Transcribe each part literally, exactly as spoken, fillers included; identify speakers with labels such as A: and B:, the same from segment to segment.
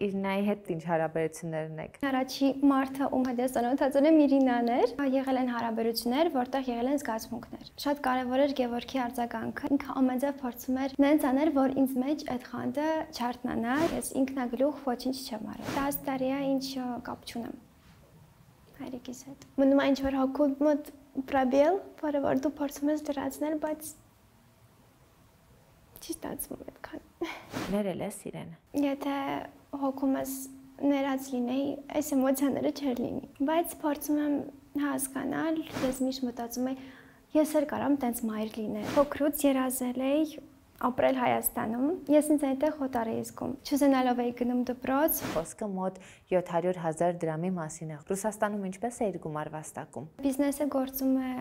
A: Իրինայի հետ ինչ հարաբերություններ ունեք։
B: Առաջի մարդը ում հետ ես ծանոթացել եմ Իրինան էր, եղել են հարաբերություններ, որտեղ եղել են զգացմունքներ։ Շատ կարևոր էր Գևորգի արձագանքը։ Ինքը ամենջավ փորձում էր նենց անել, որ ինձ մեջ այդ խանդը չարթնանա, ես ինքնագլուխ ոչինչ չեմ արել։ տասը տարի է ինչ կապ չունեմ հայրիկիս հետ։ Մնում է ինչ-որ հոգու մոտ պրոբել, որը որ դու փորձում ես լրացնել, բայց չի ստացվում այդքան։
A: Ներել ես իրեն։
B: Եթե հոգում ես ներած լինեի, այս էմոցիաները չէր լինի, բայց փորձում եմ հասկանալ, ես միշտ մտածում եմ, ես էլ կարամ տենց մայր լինել։ Փոքրուց երազել էի ապրել Հայաստանում, ես ինձ այնտեղ հոտար էի զգում։ Չուզենալով էի գնում դպրոց։
A: Խոսքը մոտ յոթ հարյուր հազար դրամի մասին է։ Ռուսաստանում ինչպես էիր գումար վաստակում։
B: Բիզնեսը գործում է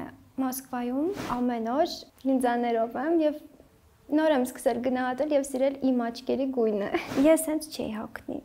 B: Մոսկվայում, ամեն օր լինզաներով եմ եւ նոր եմ սկսել գնահատել եւ սիրել իմ աչքերի գույնը։ Ես հենց չէի հոգնի։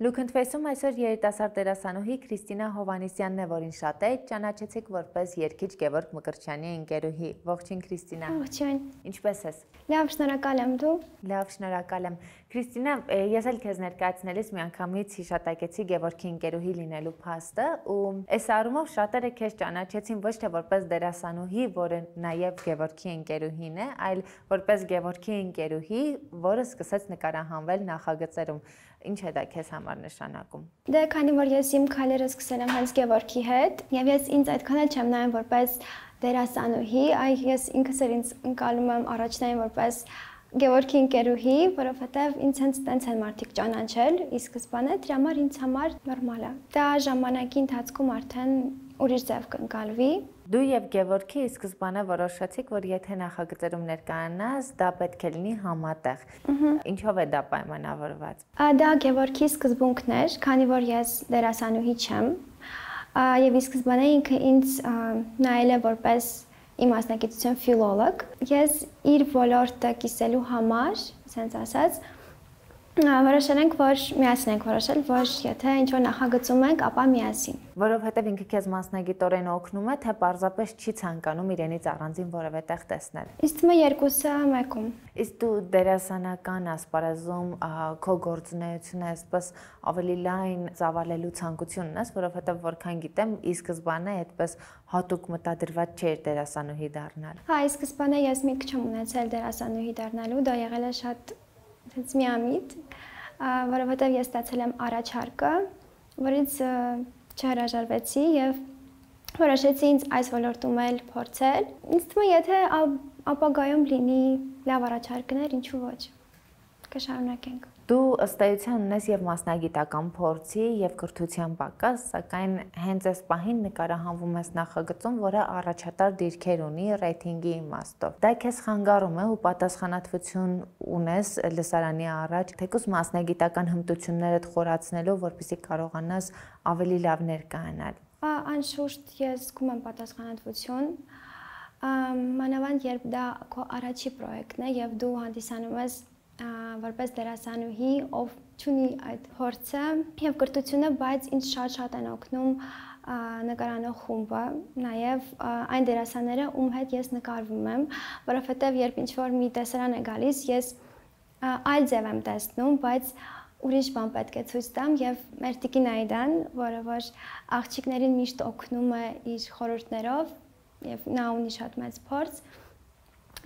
A: Լուքընթվեսում այսօր երիտասարդ դերասանուհի Քրիստինա Հովհաննիսյանն է, որին շատ է ճանաչեցիք որպես երգիչ Գևորգ Մկրտչյանի ընկերուհի։ Ողջույն Քրիստինա։
B: Ողջույն։
A: Ինչպե՞ս ես։
B: Լավ, շնորհակալ եմ դու։
A: Լավ, շնորհակալ եմ։ Քրիստինա, ես էլ քեզ ներկայացնելիս միանգամից հիշատակեցի Գևորգի ընկերուհի լինելու փաստը, ու այս առումով շատերը քեզ ճանաչեցին ոչ թե որպես դերասանուհի, որը նաև Գևորգի ընկերուհին է, այլ որպես Գևորգի ընկերուհի, որը սկսեց նկարահանվել նախագծերում։ Ինչ է դա քեզ համար նշանակում։
B: Դե քանի որ ես իմ քայլերը սկսել եմ հենց Գևորգի հետ, եւ ես ինձ այդքան էլ չեմ նայում որպես դերասանուհի, այ ես ինքս էլ ինձ ընկալում եմ առաջնային որպես Գևորգի ընկերուհի, որովհետեւ ինձ հենց տենց են մարդիկ ճանաչել, ի սկզբանե դրա համար ինձ համար նորմալ է։ Դա ժամանակի ընթացքում արդեն ուրիշ ձև կընկալվի։
A: Դու եւ Գևորգի ի սկզբանե որոշեցիք, որ եթե նախագծերում ներկայանաս, դա պետք է լինի համատեղ։ Ինչով է դա պայմանավորված։
B: Դա Գևորգի սկզբունքն էր, քանի որ ես դերասանուհի չեմ, եւ ի սկզբանե ինքը ինձ նայել է որպես իմ մասնագիտություն ֆիլոլոգ։ Ես իր ոլորտը կիսելու համար, ասենց ասած, որոշել ենք, որ միասին ենք որոշել, որ եթե ինչ-որ նախագծում ենք, ապա միասին։
A: Որովհետև ինքը քեզ մասնագիտորեն օգնում է, թե պարզապես չի ցանկանում իրենից առանձին որևէ տեղ տեսնել։
B: Իսկ թվում է երկուսը մեկում։
A: Իսկ դու դերասանական ասպարեզում քո գործունեությունը այսպես ավելի լայն ծավալելու ցանկություն ունես, որովհետև որքան գիտեմ, ի սկզբանե այդպես հատուկ մտադրված չէր դերասանուհի դառնալ։
B: Հա, ի սկզբանե ես միտք չեմ ունեցել դերասանուհի դառնալու, դա եղել է շատ It's միամիտ, որովհետև ես ստացել եմ առաջարկը, որից չհրաժարվեցի եւ որոշեցի ինձ այս ոլորտում էլ փորձել։ Ինձ թվում է, եթե ապագայում լինի լավ առաջարկներ, ինչու ոչ, կշարունակենք։
A: Դու ըստ էության ունես եւ մասնագիտական փորձի եւ կրթության պակաս, սակայն հենց այս պահին նկարահանվում ես նախագծում, որը առաջատար դիրքեր ունի ռեյթինգի իմաստով։ Դա քեզ խանգարում է ու պատասխանատվություն ունես լսարանի առաջ, թեկուզ մասնագիտական հմտություններդ խորացնելով, որպեսզի կարողանաս ավելի լավ ներկայանալ։
B: Անշուշտ ես զգում եմ պատասխանատվություն, մանավանդ երբ դա քո առաջի պրոյեկտն է եւ դու հանդիսանում ես որպես դերասանուհի, ով չունի այդ փորձը եւ կրթությունը, բայց ինձ շատ-շատ են օգնում նկարանող խումբը, նաեւ այն դերասանները, ում հետ ես նկարվում եմ, որովհետեւ երբ ինչ-որ մի տեսարան է գալիս, ես այլ ձև եմ տեսնում, բայց ուրիշ բան պետք է ցույց տամ եւ մեր տիկին Այդան, որը որ աղջիկներին միշտ օգնում է իր խորհուրդներով եւ նա ունի շատ մեծ փորձ,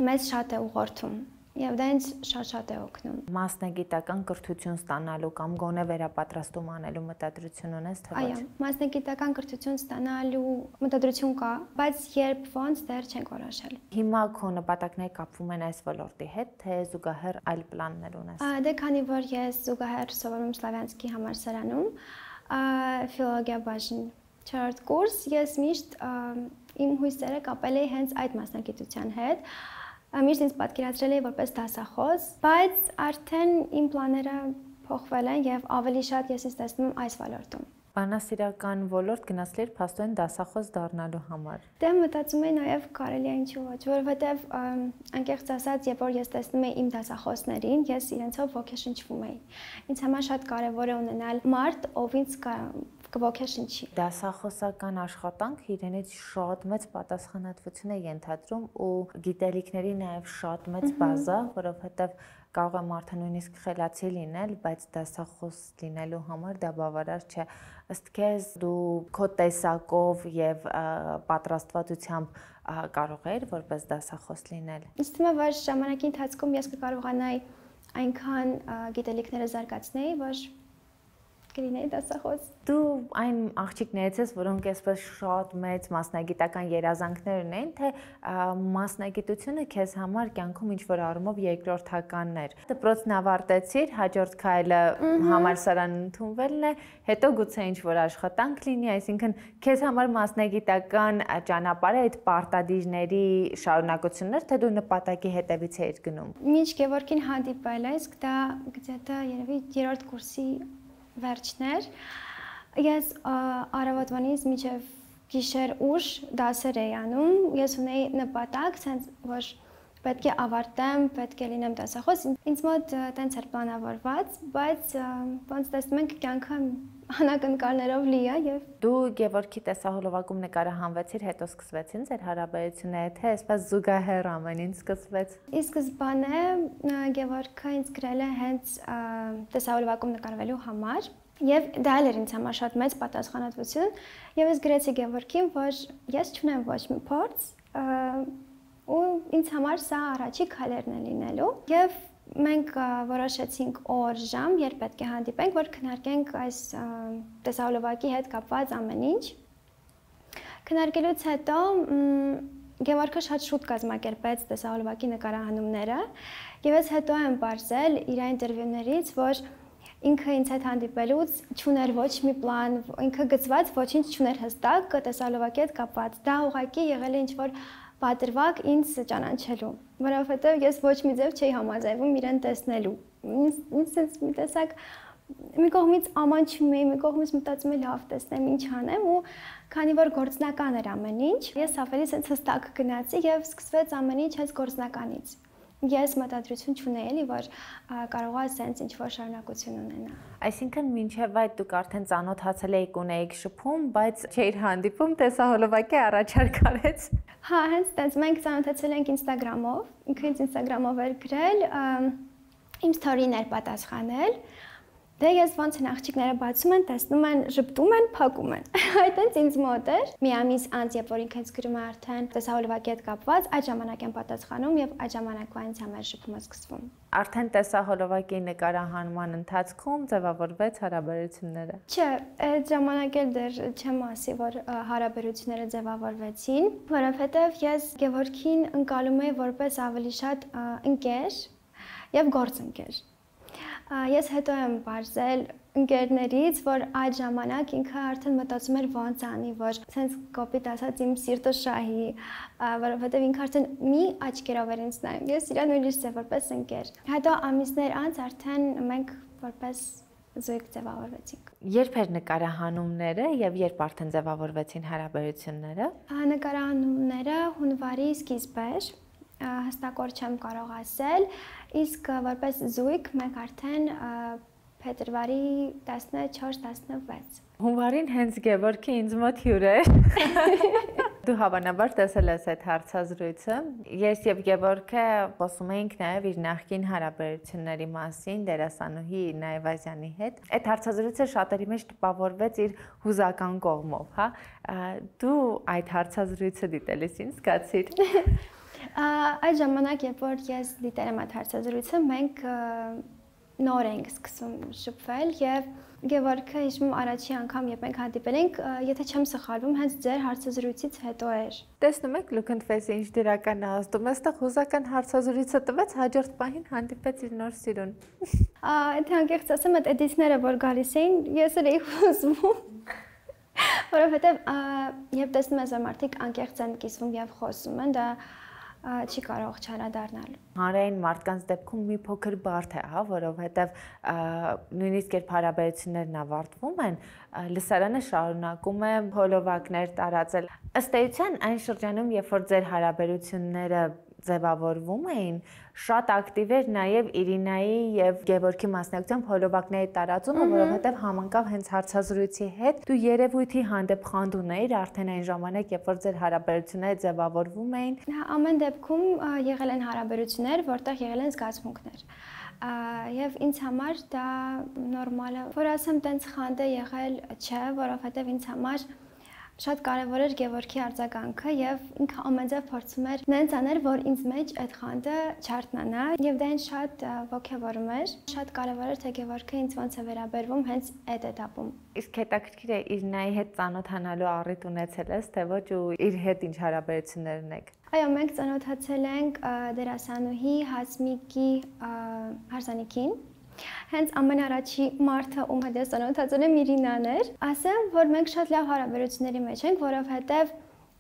B: մեզ շատ է ուղղորդում։ Եվ դա ինձ շատ-շատ է օգնում։
A: Մասնագիտական կրթություն ստանալու կամ գոնե վերապատրաստում անելու մտադրություն ունես թե ոչ։
B: Այո, մասնագիտական կրթություն ստանալու մտադրություն կա, բայց երբ ոնց դեռ չենք որոշել։
A: Հիմա քո նպատակները կապվում են այս ոլորտի հետ, թե զուգահեռ այլ պլաններ ունես։
B: Դե քանի որ ես զուգահեռ սովորում Սլավյանսկի համալսարանում, ֆիլոլոգիա բաժին չորրորդ կուրս, ես միշտ իմ հույսերը կապել էի հենց այդ մասնագիտության հետ։ Միշտ ինձ պատկերացրել էի որպես դասախոս, բայց արդեն իմ պլանները փոխվել են եւ ավելի շատ ես ինձ տեսնում եմ այս ոլորտում։
A: Բանասիրական ոլորտ գնացիր փաստորեն դասախոս դառնալու համար։
B: Դե մտածում եմ նաև կարելի է ինչու ոչ, որովհետև անկեղծ ասած, երբ որ ես տեսնում եմ իմ դասախոսներին, ես իրենցով ոգեշնչվում եի։ Ինձ համար շատ կարևոր է ունենալ մարդ, ով ինձ կոգեշնչի։
A: Դասախոսական աշխատանքը իրենից շատ մեծ պատասխանատվություն է ենթադրում ու գիտելիքների նաև շատ մեծ բազա, որովհետև կարող է մարդը նույնիսկ խելացի լինել, բայց դասախոս լինելու համար դա բավարար չէ։ Ըստ քեզ դու քո տեսակով եւ պատրաստվածությամբ կարող ես որպես դասախոս լինել։
B: Ինձ թվում է, որ ժամանակի ընթացքում ես կկարողանայի այնքան գիտելիքները զարգացնել, որ կլինեի դասախոս։
A: Դու այն աղջիկներից ես, որոնք այսպես շատ մեծ մասնագիտական երազանքներ ունեն, թե մասնագիտությունը քեզ համար կյանքում ինչ-որ առումով երկրորդականն էր։ Դպրոցն ավարտեցիր, հաջորդ քայլը համալսարան ընդունվելն է, հետո գուցե ինչ-որ աշխատանք լինի, այսինքն քեզ համար մասնագիտական ճանապարհը այդ պարտադիրների շարունակությունն էր, թե դու նպատակի հետևից էիր գնում։
B: Մինչ Գևորգին հանդիպել ես, դա գտա երևի երրորդ կուրսի վերջներ, ես առավոտվանից մինչև գիշեր ուշ դասեր էի անում, ես ունեի նպատակ, ցենց որ պետք է ավարտեմ, պետք է լինեմ դասախոս, ինձ մոտ տենց էր պլանավորված, բայց ոնց տեսնում ենք կյանքը անակնկալներով լի է եւ
A: դու Գևորգի տեսահոլովակում նկարահանվեցիր, հետո սկսվեցին ձեր հարաբերությունները, թե այսպես զուգահեռ ամեն ինչ սկսվեց։
B: Ի սկզբանե Գևորգը ինձ գրել է հենց տեսահոլովակում նկարվելու համար եւ դա էլ էր ինձ համար շատ մեծ պատասխանատվություն եւ ես գրեցի Գևորգին, որ ես չունեմ ոչ մի փորձ ու ինձ համար սա առաջի քայլերն է լինելու եւ մենք որոշեցինք օր ժամ, երբ պետք է հանդիպենք, որ քննարկենք այս տեսահոլովակի հետ կապված ամեն ինչ։ Քննարկելուց հետո Գևորգը շատ շուտ կազմակերպեց տեսահոլովակի նկարահանումները եւ ես հետո եմ բարձել իր ինտերվյուներից, որ ինքը ինձ հետ հանդիպելուց չուներ ոչ մի պլան, ինքը գծված ոչինչ չուներ հստակ տեսահոլովակի հետ կապված։ Դա ուղղակի եղել է ինչ-որ պատրվակ ինձ ճանաչելու, որովհետև ես ոչ մի ձև չէի համաձայնվում իրեն տեսնելու։ Ինձ ինձ մի տեսակ մի կողմից ամանչում էի, մի կողմից մտածում էի լավ տեսնեմ ինչ անեմ ու քանի որ գործնական էր ամեն ինչ, ես ավելի sense հստակ գնացի եւ սկսվեց ամեն ինչ հենց գործնականից։ Ես մտադրություն չունեի էլի, որ կարող է sense ինչ-որ շարունակություն ունենա։
A: Այսինքն մինչև այդ դուք արդեն ծանոթացել եք ունեիք շփում, բայց չէիր հանդիպում, տեսահոլովակի առաջարկ արեց։
B: Հա, հենց այդպես մենք ծանոթացել ենք Instagram-ով, ինքը ինձ Instagram-ով էր գրել, իմ story-ներ պատասխանել։ Դե ես ոնց են աղջիկները բացում են, տեսնում են, ժպտում են, փակում են։ Այդտենց ինձ մոտ էր։ Մի ամիս անց, երբ որ ինքը ինձ գրում է արդեն տեսահոլովակի հետ կապված, այդ ժամանակ եմ պատասխանում եւ այդ ժամանակվա ինձ համար շփումը սկսվում։
A: Արդեն տեսահոլովակի նկարահանման ընթացքում ձևավորվեց հարաբերությունները։
B: Չէ, այդ ժամանակ էլ դեռ չեմ ասի, որ հարաբերությունները ձևավորվեցին, որովհետեւ ես Գևորգին ընկալում եի որպես ավելի շատ ընկեր եւ գործընկեր։ Ես հետո եմ բարձել ընկերներից, որ այդ ժամանակ ինքը արդեն մտածում էր ոնց անի, որ ցենց կոպիտ ասած իմ սիրտը շահի, որովհետև ինքը արդեն մի աչքերով էր ինձ նայում։ Ես իրան ուրիշ ձև որպես ընկեր։ Հետո ամիսներ անց արդեն մենք որպես զույգ ձևավորվեցինք։
A: Երբ էր նկարահանումները եւ երբ արդեն ձևավորվեցին հարաբերությունները։
B: Նկարահանումները հունվարի սկիզբեր հստակ օր չեմ կարող ասել, իսկ որպես զույգ մենք արդեն փետրվարի տասնչորս տասնվեց։
A: Հունվարին հենց Գևորգի ինձ մոտ հյուր է։ Դու հավանաբար տեսել ես այդ հարցազրույցը։ Ես եւ Գևորգը խոսում էինք նաեւ իր նախկին հարաբերությունների մասին դերասանուհի Նայվազյանի հետ։ Այդ հարցազրույցը շատերի մեջ տպավորվեց իր հուզական կողմով, հա։ Դու այդ հարցազրույցը դիտելիս ինչ զգացիր։
B: Այդ ժամանակ, երբ որ ես դիտել եմ այդ հարցազրույցը, մենք նոր ենք սկսում շփվել եւ Գևորգը հիշում առաջի անգամ, երբ մենք հանդիպել ենք, եթե չեմ սխալվում, հենց ձեր հարցազրույցից հետո էր։
A: Տեսնում եք Լուքընթվեսի ինչ դրական ազդում, այստեղ հուզական հարցազրույցը տվեց, հաջորդ պահին հանդիպեց իր նոր սիրուն։
B: Եթե անկեղծ ասեմ, այդ էդիտները, որ գալիս էին, ես էլ էի հուզվում։ Որովհետև երբ տեսնում ես, որ մարդիկ անկեղծ են կիսվում եւ խոսում են, դա չի կարող չարադառնալ։
A: Հանրային մարդկանց դեպքում մի փոքր բարդ է, հա, որովհետև նույնիսկ երբ հարաբերություններն ավարտվում են, լսարանը շարունակում է հոլովակներ տարածել։ Ըստ էության, այն շրջանում, երբ որ ձեր հարաբերությունները ձևավորվում էին, շատ ակտիվ էր նաև Իրինայի եւ Գևորգի մասնակցությամբ հոլովակների տարածումը, որովհետեւ համընկավ հենց հարցազրույցի հետ։ Դու երևույթի հանդեպ խանդ ունեիր արդեն այն ժամանակ, երբ որ ձեր հարաբերությունները ձևավորվում էին։
B: Ամեն դեպքում եղել են հարաբերություններ, որտեղ եղել են զգացմունքներ։ Եվ ինձ համար դա նորմալ է, որ ասեմ, տենց խանդ է եղել, չէ, որովհետեւ ինձ համար շատ կարևոր էր Գևորգի արձագանքը եւ ինքը ամենձև փորձում էր նենց անել, որ ինձ մեջ այդ խանդը չարթնանա եւ դա ինձ շատ ոգևորում էր։ Շատ կարևոր էր թե Գևորգը ինձ ոնց է վերաբերվում հենց այդ этаպում։
A: Իսկ հետաքրքիր է Իրինայի հետ ծանոթանալու առիթ ունեցել ես, թե ոչ ու իր հետ ինչ հարաբերություններ ունեք։
B: Այո, մենք ծանոթացել ենք դերասանուհի Հասմիկի հարսանիքին։ Հենց ամենառաջի մարդը, ում հետ ես ծանոթացել եմ, Իրինան էր։ Ասեմ, որ մենք շատ լավ հարաբերությունների մեջ ենք, որովհետև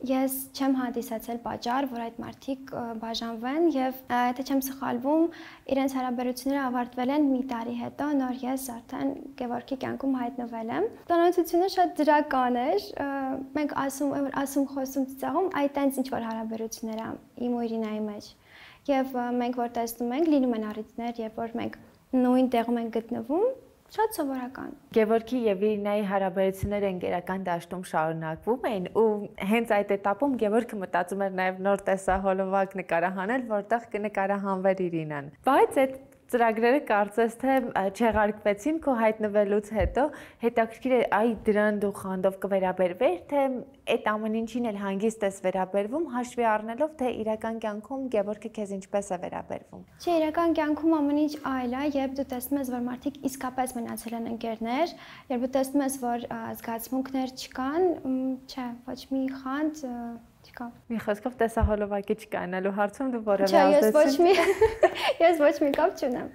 B: ես չեմ հանդիսացել պատճառ, որ այդ մարդիկ բաժանվեն եւ եթե չեմ սխալվում, իրենց հարաբերությունները ավարտվել են մի տարի հետո, նոր ես արդեն Գևորգի կյանքում հայտնվել եմ։ Ծանոթությունը շատ դրական էր։ Մենք ասում ասում խոսում ծիծաղում, այդ տենց ինչ որ հարաբերություններ ա իմ ու Իրինայի մեջ։ Եվ մենք որ տեսնում ենք, լինում են առիթներ, երբ որ մենք նույն տեղում են գտնվում, շատ սովորական։
A: Գևորգի եւ Իրինայի հարաբերությունները ընկերական դաշտում շարունակվում էին ու հենց այդ этаպում Գևորգը մտածում էր նաեւ նոր տեսահոլովակ նկարահանել, որտեղ կնկարահանվեր Իրինան։ Բայց այդ ծրագրերը կարծես թե չեղարկվեցին քո հայտնվելուց հետո, հետաքրքիր է, այ դրան դու խանդով կվերաբերվեր, թե այդ ամեն ինչին էլ հանգիստ ես վերաբերվում, հաշվի առնելով, թե իրական կյանքում Գևորգը քեզ ինչպես է վերաբերվում։
B: Չէ, իրական կյանքում ամեն ինչ այլ է, երբ դու տեսնում ես, որ մարդիկ իսկապես մնացել են ընկերներ, երբ դու տեսնում ես, որ զգացմունքներ չկան, չէ, ոչ մի խանդ չկա։
A: Մի խոսքով տեսահոլովակի չկանալու հարցում դու որևէ
B: Չէ, ես ոչ մի ես ոչ մի կապ չունեմ։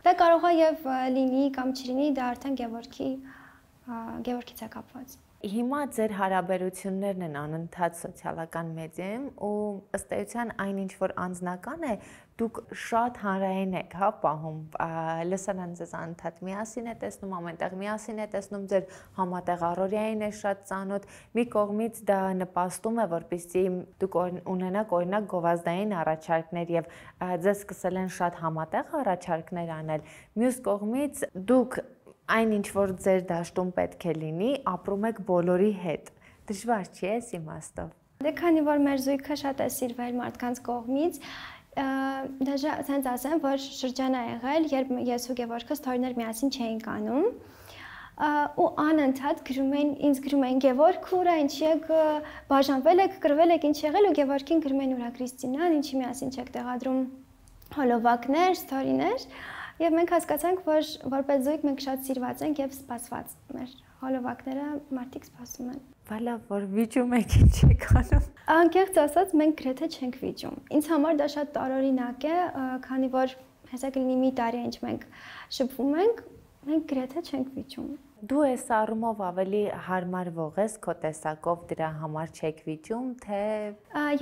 B: Դա կարող է եւ լինի կամ չլինի, դա արդեն Գևորգի Գևորգից է կապված։
A: Հիմա ձեր հարաբերություններն են անընդհատ սոցիալական մեդիայում ու ըստ էության այն ինչ որ անձնական է, դուք շատ հանրային եք, հա, պահում, լսարան ձեզ անընդհատ միասին է տեսնում, ամենտեղ միասին է տեսնում, ձեր համատեղ առօրյային է շատ ծանոթ, մի կողմից դա նպաստում է, որպեսզի դուք ունենաք օրինակ գովազդային առաջարկներ եւ ձեզ սկսել են շատ համատեղ առաջարկներ անել, մյուս կողմից դուք այն ինչ որ ձեր դաշտում պետք է լինի, ապրում եք բոլորի հետ։ Դժվար չի էս իմաստով։
B: Դե քանի որ մեր զույգը շատ է սիրվել մարդկանց կողմից, դաժա ասենց ասեմ, որ շրջան է եղել, երբ ես ու Գևորգը ստորիներ միասին չէինք անում, ու անընդհատ գրում էին, ինձ գրում էին Գևորգ, ուրա, ինչի եք բաժանվել եք, կռվել եք, ինչ եղել, ու Գևորգին գրում էին ուրա Քրիստինան, ինչի միասին չեք տեղադրում հոլովակներ, ստորիներ։ Եվ մենք հասկացանք, որ որպես զույգ մենք շատ սիրված ենք եւ սպասված։ Մեր հոլովակները մարդիկ սպասում են։
A: Բալա, որ վիճում եք ինչ եք անում։
B: Անկեղծ ասած, մենք գրեթե չենք վիճում։ Ինձ համար դա շատ տարօրինակ է, քանի որ հեսա կլինի մի տարի ինչ մենք շփվում ենք, մենք գրեթե չենք վիճում։
A: Դու ես առումով ավելի հարմարվող ես քո տեսակով դրա համար չեք վիճում, թե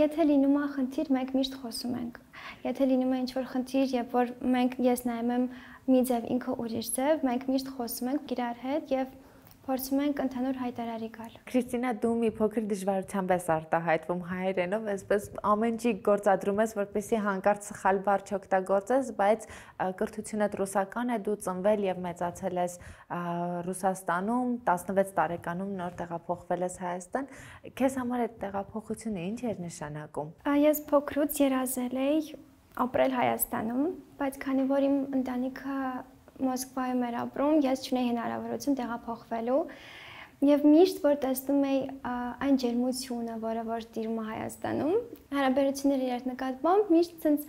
B: եթե լինում է խնդիր, մենք միշտ խոսում ենք։ Եթե լինում է ինչ-որ խնդիր, երբ որ մենք ես նայում եմ մի ձև, ինքը ուրիշ ձև, մենք միշտ խոսում ենք իրար հետ եւ փորձում ենք ընդհանուր հայտարարի գալ։
A: Քրիստինա, դու մի փոքր դժվարությամբ ես արտահայտվում հայերենով, այսպես ամեն ինչ գործադրում ես, որպեսզի հանկարծ սխալ բառ չօգտագործես, բայց կրթությունդ ռուսական է, դու ծնվել եւ մեծացել ես Ռուսաստանում, տասնվեց տարեկանում նոր տեղափոխվել ես Հայաստան։ Քեզ համար այդ տեղափոխությունը ինչ էր նշանակում։
B: Ես փոքրուց երազել էի ապրել Հայաստանում, բայց քանի որ իմ ընտանիքը Մոսկվայում էր ապրում, ես չունեի հնարավորություն տեղափոխվելու եւ միշտ որ տեսնում էի այն ջերմությունը, որը որ տիրում է Հայաստանում, հարաբերությունների իր նկատմամբ միշտ ցենց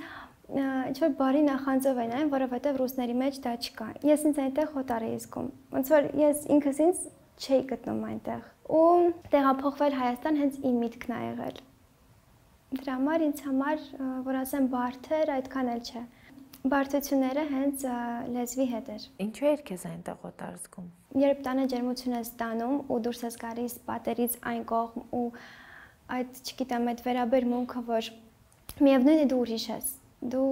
B: ինչ որ բարի նախանձով են այն, որովհետեւ ռուսների մեջ դա չկա։ Ես ինձ այնտեղ հոտար էի զգում։ Ոնց որ ես ինքս ինձ չէի գտնում այնտեղ։ Ու տեղափոխվել Հայաստան հենց իմ միտքն ա եղել։ Դրա համար ինձ համար, որ ասեմ, բարդ էր, այդքան էլ չէ։ Բարդությունները հենց լեզվի հետ էր։
A: Ինչու էր քեզ այնտեղ օտար զգում։
B: Երբ տանը ջերմություն ես ստանում ու դուրս ես գալիս պատերից այն կողմ ու այդ, չգիտեմ, այդ վերաբերմունքը, որ միևնույն է դու ուրիշ ես։ Դու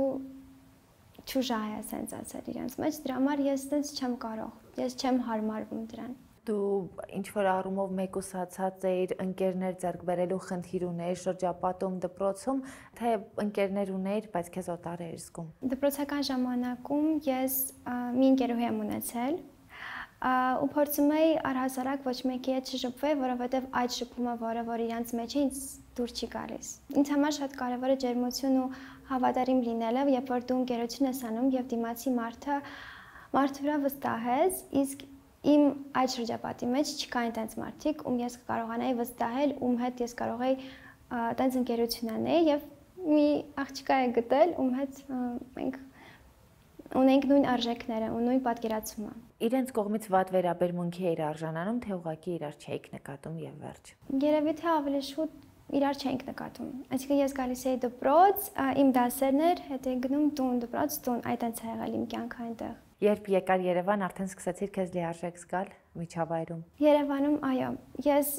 B: ճուժա ես sense ասել իրենց մեջ, դրա համար ես sense չեմ կարող։ Ես չեմ հարմարվում դրան։
A: Դու ինչ որ առումով մեկուսացած էիր ընկերներ ձեռք բերելու խնդիր ունեիր շրջապատում դպրոցում, թե ընկերներ ունեիր, բայց քեզ օտար էիր զգում։
B: Դպրոցական ժամանակում ես մի ընկերուհի եմ ունեցել, ու փորձում էի առհասարակ ոչ մեկի հետ շփվել, որովհետև այդ շփումը, որը որ իրանց մեջ է, ինձ դուր չի գալիս։ Ինձ համար շատ կարևոր է ջերմություն ու հավատարիմ լինելը, երբ որ դու ընկերություն ես անում եւ դիմացի մարդը մարդու վրա վստահ ես, իսկ իմ այդ շրջապատի մեջ չկա այնտենց մարդիկ, ում ես կարողանայի վստահել, ում հետ ես կարող էի այդպես ընկերություն անել եւ մի աղջկա է գտել, ում հետ մենք ունենք նույն արժեքները ու նույն պատկերացումը։
A: Իրենց կողմից վատ վերաբերմունքի էր արժանանում, թե ուղղակի իրար չէիք նկատում եւ վերջ։
B: Երևի թե ավելի շուտ իրար չենք նկատում։ Այսինքն ես գալիս էի դպրոց, իմ դասերն էր, հետ էի գնում տուն, դպրոց, տուն, այդտենց է եղել իմ կյանքը այնտեղ։
A: Երբ եկար Երևան, արդեն սկսեցիր քեզ լիարժեք զգալ միջավայրում։
B: Երևանում, այո, ես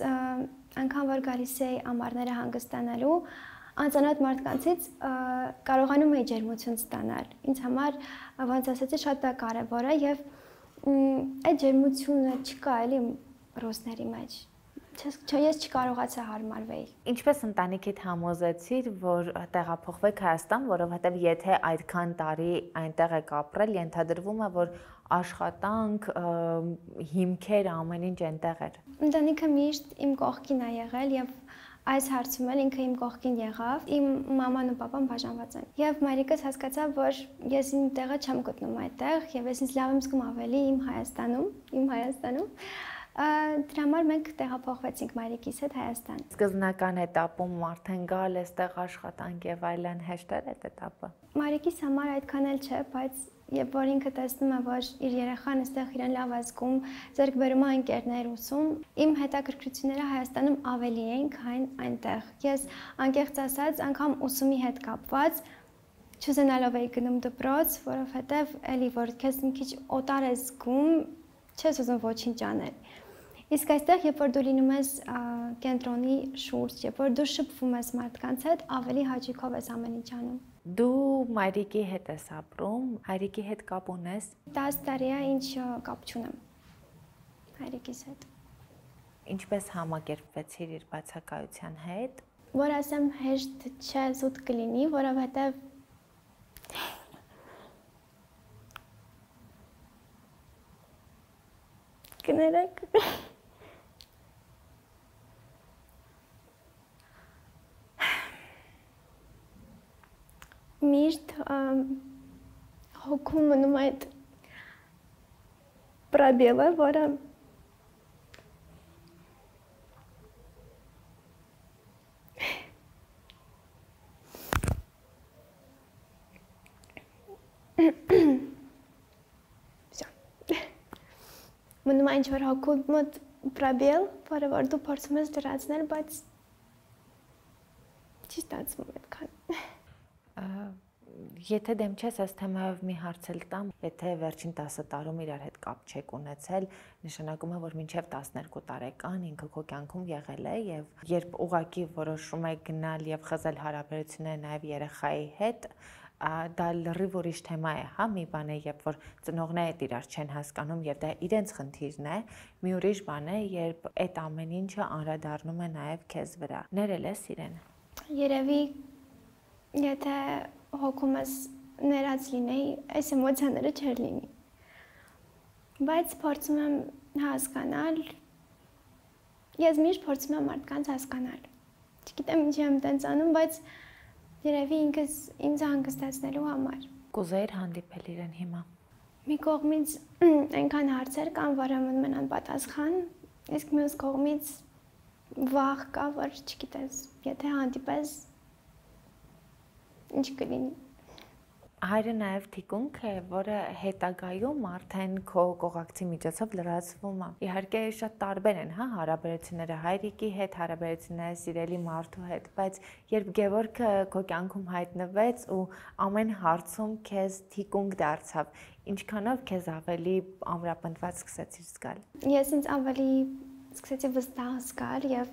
B: անգամ որ գալիս էի ամառները հանգստանալու, անծանոթ մարդկանցից կարողանում էի ջերմություն ստանալ։ Ինձ համար, ոնց ասեցի, շատ կարևոր է եւ այդ ջերմությունը չկա էլի ռուսների մեջ։ Ես չկարողացա հարմարվել։
A: Ինչպես ընտանիքիդ համոզեցիր, որ տեղափոխվեք Հայաստան, որովհետև եթե այդքան տարի այնտեղ եք ապրել, ենթադրվում է, որ աշխատանք, հիմքեր, ամեն ինչ այնտեղ էր։
B: Ընտանիքը միշտ իմ կողքին է եղել եւ այս հարցում էլ ինքը իմ կողքին եղավ։ Իմ մաման ու պապան բաժանված են։ Եվ մայրիկս հասկացավ, որ ես իմ տեղը չեմ գտնում այդտեղ եւ ես ինձ լավ եմ զգում ավելի իմ Հայաստանում, իմ Հայաստանում։ Դրա համար մենք տեղափոխվեցինք մայրիկիս հետ Հայաստան։
A: Սկզբնական этаպում արդեն գալ էստեղ աշխատանք եւ այլն հեշտ էր այդ этаպը։
B: Մայրիկիս համար այդքան էլ չէ, բայց երբ որ ինքը տեսնում է, որ իր երեխան այստեղ իրեն լավ է զգում, ձեռք բերում է ընկերներ ուսում, իմ հետաքրքրությունները Հայաստանում ավելի էին, քան այնտեղ։ Ես անկեղծ ասած, անգամ ուսումի հետ կապված չուզենալով էի գնում դպրոց, որովհետեւ էլի որ քեզ մի քիչ օտար ես զգում, չես ուզում ոչինչ անել։ Իսկ այստեղ, երբ որ դու լինում ես կենտրոնի շուրջ, երբ որ դու շփվում ես մարդկանց հետ, ավելի հաճույքով ես ամեն ինչ անում։
A: Դու մայրիկի հետ ես ապրում, հայրիկի հետ կապ ունես։
B: դաս տարի է, ինչ կապ չունեմ հայրիկիս հետ։
A: Ինչպես համակերպվեցիր իր բացակայության հետ։
B: Որ ասեմ հեշտ չէ, զուտ կլինի, որովհետև կներեք միշտ հոգում մնում այդ պրաբելը, որը մնում այն ինչ-որ հոգու մոտ պրաբել, որը որ դու փորձում ես լրացնել, բայց չի ստացվում այդքան։
A: Եթե դեմ չես, այս թեմայով մի հարց էլ տամ, եթե վերջին տասը տարում իրար հետ կապ չեք ունեցել, նշանակում է, որ մինչև տասներկու տարեկան ինքը քո կյանքում եղել է եւ երբ ուղակի որոշում եք գնալ եւ խզել հարաբերությունները նաեւ երեխայի հետ, դա լրիվ ուրիշ թեմա է, հա, մի բան է, երբ որ ծնողները իրար չեն հասկանում եւ դա իրենց խնդիրն է, մի ուրիշ բան է, երբ այդ ամեն ինչը անդրադառնում է նաեւ քեզ վրա։ Ներել ես իրեն։
B: Երևի եթե հոգումս ներած լինեի, այս էմոցիաները չեր լինի։ Բայց փորձում եմ հասկանալ, ես միշտ փորձում եմ մարդկանց հասկանալ։ Չգիտեմ ինչի եմ տենց անում, բայց երևի ինքս ինձ հանգստացնելու համար։
A: Կուզեիր հանդիպել իրեն հիմա։
B: Մի կողմից այնքան հարցեր կան, որը մնում են անպատասխան, իսկ մյուս կողմից վախ կա, որ չգիտես, եթե հանդիպես ինչ կլինի։
A: Հայրը նաև թիկունք է, որը հետագայում արդեն քո կողակցի միջոցով լրացվում է։ Իհարկե շատ տարբեր են, հա, հարաբերությունները հայրիկի հետ, հարաբերությունները սիրելի մարդու հետ, բայց երբ Գևորգը քո կյանքում հայտնվեց ու ամեն հարցում քեզ թիկունք դարձավ, ինչքանով քեզ ավելի ամրապնդված սկսեցիր զգալ։
B: Ես ինձ ավելի սկսեցի վստահ զգալ եւ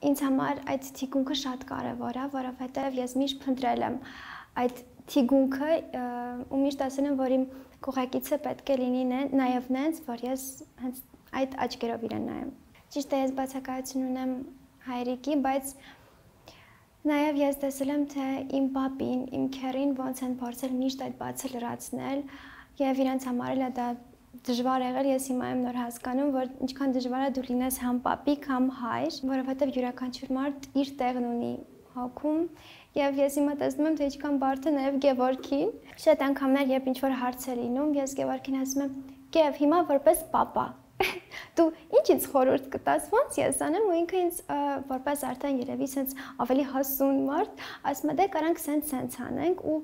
B: ինձ համար այդ թիկունքը շատ կարևոր է, որովհետև ես միշտ փնտրել եմ այդ թիկունքը ու միշտ ասել եմ, որ իմ կողակիցը պետք է լինի նաև նենց, որ ես հենց այդ աչքերով իրեն նայեմ։ Ճիշտ է, ես բացակայություն ունեմ հայրիկի, բայց նաև ես տեսել եմ, թե իմ պապին, իմ քեռին ոնց են փորձել միշտ այդ բացը լրացնել եւ իրենց համար էլ է դա դժվար եղել, ես հիմա եմ նոր հասկանում, որ ինչքան դժվար է դու լինես համ պապիկ, համ հայր, որովհետև յուրաքանչյուր մարդ իր տեղն ունի հոգում, եւ ես հիմա տեսնում եմ, թե ինչքան բարդ է նաեւ Գևորգին։ Շատ անգամներ, երբ ինչ-որ հարց է լինում, ես Գևորգին ասում եմ. «Գև, հիմա որպես պապա, դու ինչ ինձ խորհուրդ կտաս, ոնց ես անեմ», ու ինքը ինձ որպես արդեն երևի sense ավելի հասուն մարդ, ասում է դե կարանք sense-sense անենք, ու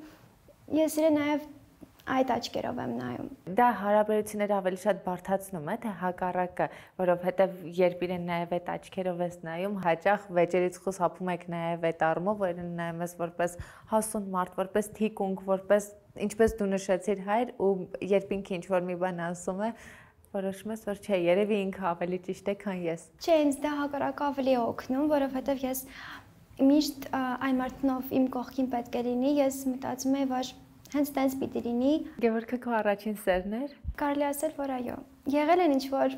B: ես իրեն նաեւ այդ աչքերով եմ նայում։
A: Դա հարաբերությունները ավելի շատ բարդացնում է, թե հակառակը, որովհետև երբ իրեն նաև այդ աչքերով ես նայում, հաճախ վեճերից խուսափում եք նաև այդ առումով, որ իրեն նայում ես որպես հասուն մարդ, որպես թիկունք, որպես ինչպես դու նշեցիր հայր, ու երբ ինքը ինչ-որ մի բան ասում է, որոշում ես, որ չէ, երևի ինքը ավելի ճիշտ է, քան ես։
B: Չէ, ինձ դա հակառակը ավելի է օգնում, որովհետև ես միշտ այն մարդնով իմ կողքին պետք է լինի, ես մտածում եմ, որ հենց տենց պիտի լինի։
A: Գևորգը քո առաջին սերն էր։
B: Կարելի ասել, որ այո։ Եղել են ինչ-որ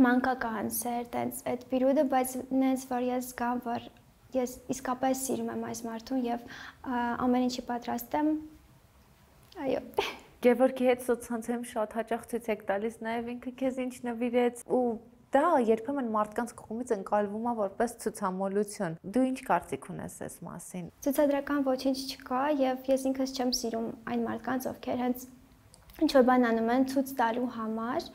B: մանկական սեր, տենց այդ պիրուդը, բայց նենց որ ես զգամ, որ ես իսկապես սիրում եմ այս մարդուն եւ ամեն ինչի պատրաստ եմ։ Այո։
A: Գևորգի հետ սոցցանցերում շատ հաճախ ցույց եք տալիս նաև ինքը քեզ ինչ նվիրեց, ու դա երբեմն մարդկանց կողմից ընկալվում է որպես ցուցամոլություն։ Դու ինչ կարծիք ունես այս մասին։
B: Ցուցադրական ոչինչ չկա եւ ես ինքս չեմ սիրում այն մարդկանց, ովքեր հենց ինչ որ բան անում են ցույց տալու համար,